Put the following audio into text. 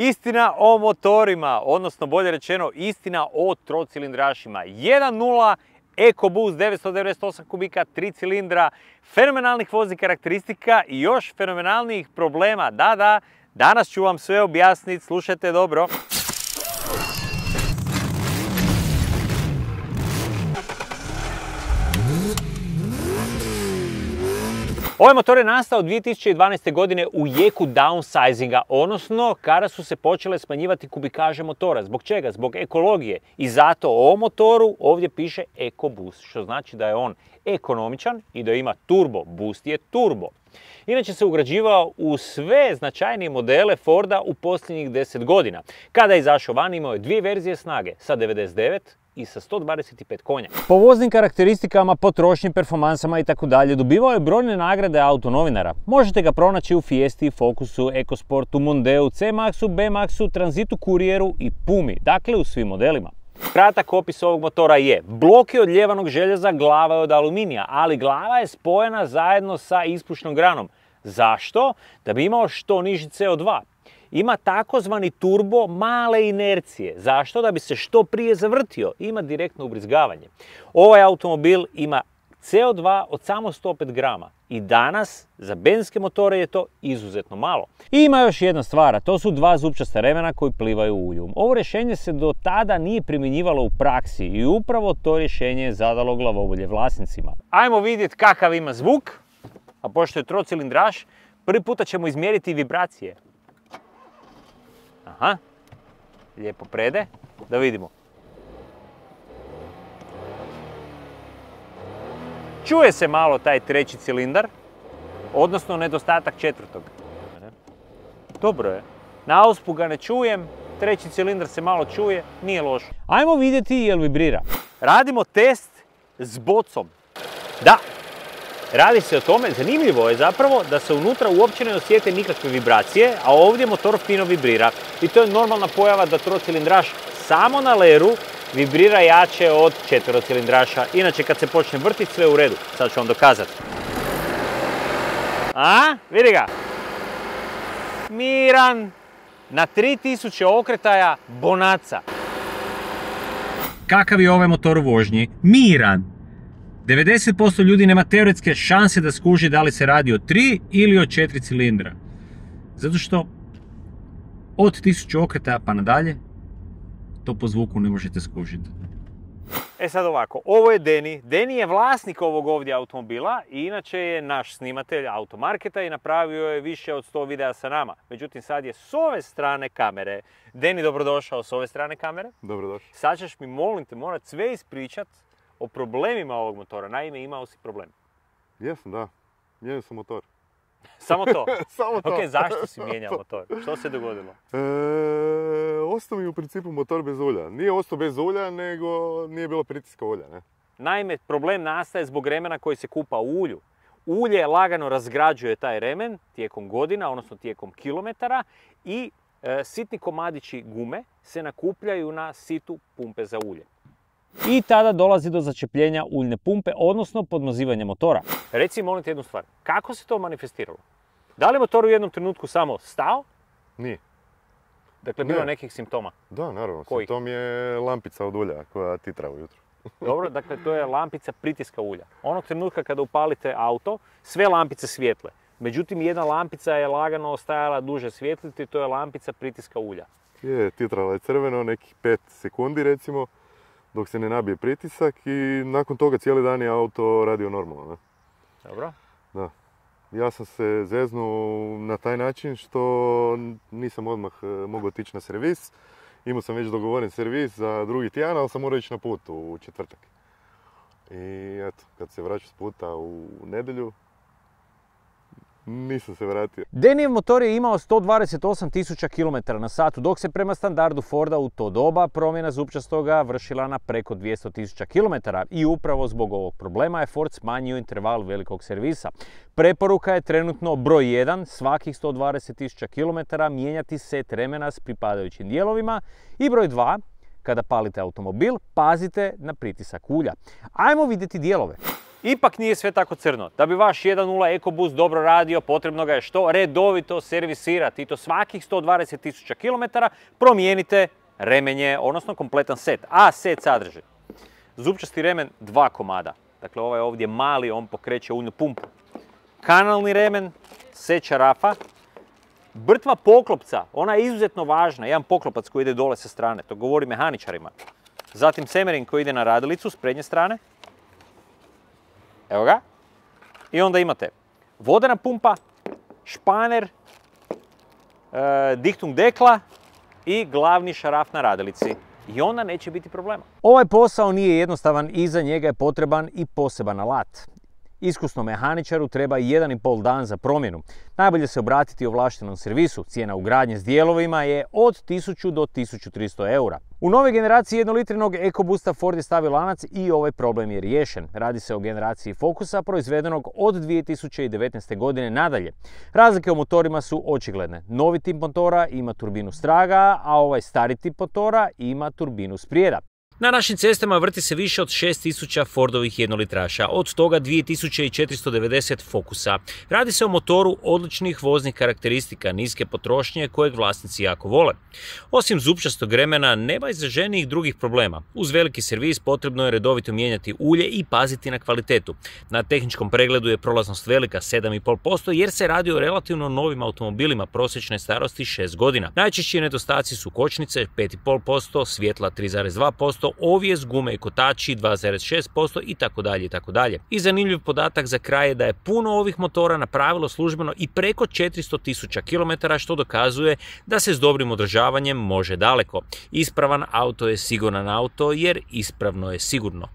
Istina o motorima, odnosno bolje rečeno istina o trocilindrašima. 1.0 EcoBoost 998 kubika, 3 cilindra, fenomenalnih voznih karakteristika i još fenomenalnijih problema. Da, danas ću vam sve objasniti, slušajte dobro. Ovaj motor je nastao 2012. godine u jeku downsizinga, odnosno kada su se počele smanjivati kubikaže motora. Zbog čega? Zbog ekologije. I zato o ovom motoru ovdje piše EcoBoost, što znači da je on ekonomičan i da ima turbo. Boost je turbo. Inače se ugrađivao u sve značajnije modele Forda u posljednjih 10 godina. Kada je izašao van imao je dvije verzije snage, sa 99 i sa 125 konja. Po voznim karakteristikama, potrošnji, performansama i tako dalje dobivao je brojne nagrade autonovinara. Možete ga pronaći u Fiesti, Focusu, EcoSportu, Mondeu, C-Maxu, B-Maxu, Transitu Courieru i Pumi, dakle u svim modelima. Kratak opis ovog motora je: blok je od ljevanog željeza, glava je od aluminija, ali glava je spojena zajedno sa ispušnom granom. Zašto? Da bi imao što niži CO2. Ima takozvani turbo male inercije. Zašto? Da bi se što prije zavrtio. Ima direktno ubrizgavanje. Ovaj automobil ima CO2 od samo 105 grama. I danas za benzinske motore je to izuzetno malo. I ima još jedna stvar, a to su dva zupčasta remena koji plivaju u ulju. Ovo rješenje se do tada nije primjenjivalo u praksi i upravo to rješenje je zadalo glavobolje vlasnicima. Ajmo vidjeti kakav ima zvuk, a pošto je trocilindraš, prvi puta ćemo izmjeriti vibracije. Aha, lijepo prede, da vidimo. Čuje se malo taj treći cilindar, odnosno nedostatak četvrtog. Dobro je. Na auspu ga ne čujem, treći cilindar se malo čuje, nije loš. Ajmo vidjeti jel vibrira. Radimo test s bocom. Da, radi se o tome, zanimljivo je zapravo da se unutra uopće ne osjete nikakve vibracije, a ovdje motor fino vibrira. I to je normalna pojava da trocilindraš samo na leru vibrira jače od četverocilindraša. Inače kad se počne vrtiti sve u redu. Sad ću vam dokazati. A, vidi ga. Miran. Na 3000 okretaja bonaca. Kakav je ovaj motor u vožnji? Miran. 90% ljudi nema teoretske šanse da skuži da li se radi o 3 ili o 4 cilindra. Zato što od 1000 okretaja pa nadalje to po zvuku ne možete skužiti. E sad ovako, ovo je Deni. Deni je vlasnik ovog ovdje automobila i inače je naš snimatelj automarketa i napravio je više od 100 videa sa nama. Međutim, sad je s ove strane kamere. Deni, dobrodošao s ove strane kamere. Dobrodošao. Sad ćeš mi, molim te, morat sve ispričat o problemima ovog motora. Naime, imao si problem. Jesam, da. Mijenjao sam motor. Samo to? Samo to. Ok, zašto si mijenjao motor? Što se dogodilo? Ostao mi u principu motor bez ulja. Nije ostao bez ulja, nego nije bilo pritiska ulja, ne? Naime, problem nastaje zbog remena koji se kupa u ulju. Ulje lagano razgrađuje taj remen tijekom godina, odnosno tijekom kilometara i sitni komadići gume se nakupljaju na situ pumpe za ulje. I tada dolazi do začepljenja uljne pumpe, odnosno podmazivanja motora. Reci, molim te jednu stvar, kako se to manifestiralo? Da li je motor u jednom trenutku samo stao? Nije. Dakle, bilo nekih simptoma? Da, naravno. Kojih? Simptom je lampica od ulja koja titra ujutro. Dobro, dakle, to je lampica pritiska ulja. Onog trenutka kada upalite auto, sve lampice svijetle. Međutim, jedna lampica je lagano ostajala duže svjetliti, to je lampica pritiska ulja. Je, titrala je crveno, nekih 5 sekundi recimo, dok se ne nabije pritisak i nakon toga cijeli dan je auto radio normalno. Ne? Dobro. Da. Ja sam se zeznuo na taj način što nisam odmah mogao otići na servis. Imao sam već dogovoren servis za drugi tjedan, ali sam morao ići na put u četvrtak. I eto, kad se vraćam s puta u nedjelju, nisam se vratio. Denijev motor je imao 128.000 km na satu, dok se prema standardu Forda u to doba promjena zupčastoga vršila na preko 200.000 km i upravo zbog ovog problema je Ford smanjio interval velikog servisa. Preporuka je trenutno broj 1, svakih 120.000 km mijenjati set remena s pripadajućim dijelovima i broj 2, kada palite automobil, pazite na pritisak ulja. Ajmo vidjeti dijelove. Ipak nije sve tako crno. Da bi vaš 1.0 EcoBoost dobro radio, potrebno ga je što redovito servisirati. I to svakih 120.000 km promijenite remenje, odnosno kompletan set. A set sadrži zupčasti remen 2 komada. Dakle, ovaj ovdje mali, on pokreće uljnu pumpu. Kanalni remen, set čarafa, brtva poklopca, ona je izuzetno važna, jedan poklopac koji ide dole sa strane, to govori mehaničarima. Zatim semerin koji ide na radilicu s prednje strane. Evo ga. I onda imate vodena pumpa, španer, diktung dekla i glavni šaraf na radilici. I onda neće biti problema. Ovaj posao nije jednostavan i za njega je potreban i poseban alat. Iskusnom mehaničaru treba 1,5 dan za promjenu. Najbolje se obratiti ovlaštenom servisu. Cijena ugradnje s dijelovima je od 1000 do 1300 eura. U nove generaciji 1-litrinog EcoBoosta Ford je stavio lanac i ovaj problem je riješen. Radi se o generaciji Focusa proizvedenog od 2019. godine nadalje. Razlike u motorima su očigledne. Novi tip motora ima turbinu straga, a ovaj stari tip motora ima turbinu sprijeda. Na našim cestama vrti se više od 6000 Fordovih jednolitraša, od toga 2490 Focusa. Radi se o motoru odličnih voznih karakteristika, niske potrošnje kojeg vlasnici jako vole. Osim zupčastog remena, nema izraženijih drugih problema. Uz veliki servis potrebno je redovito mijenjati ulje i paziti na kvalitetu. Na tehničkom pregledu je prolaznost velika 7,5% jer se radi o relativno novim automobilima prosječne starosti 6 godina. Najčešći nedostaci su kočnice 5,5%, svjetla 3,2%, ovjes, gume i kotači 2,6% itd. I zanimljiv podatak za kraj je da je puno ovih motora napravilo službeno i preko 400.000 km, što dokazuje da se s dobrim održavanjem može daleko. Ispravan auto je siguran auto jer ispravno je sigurno.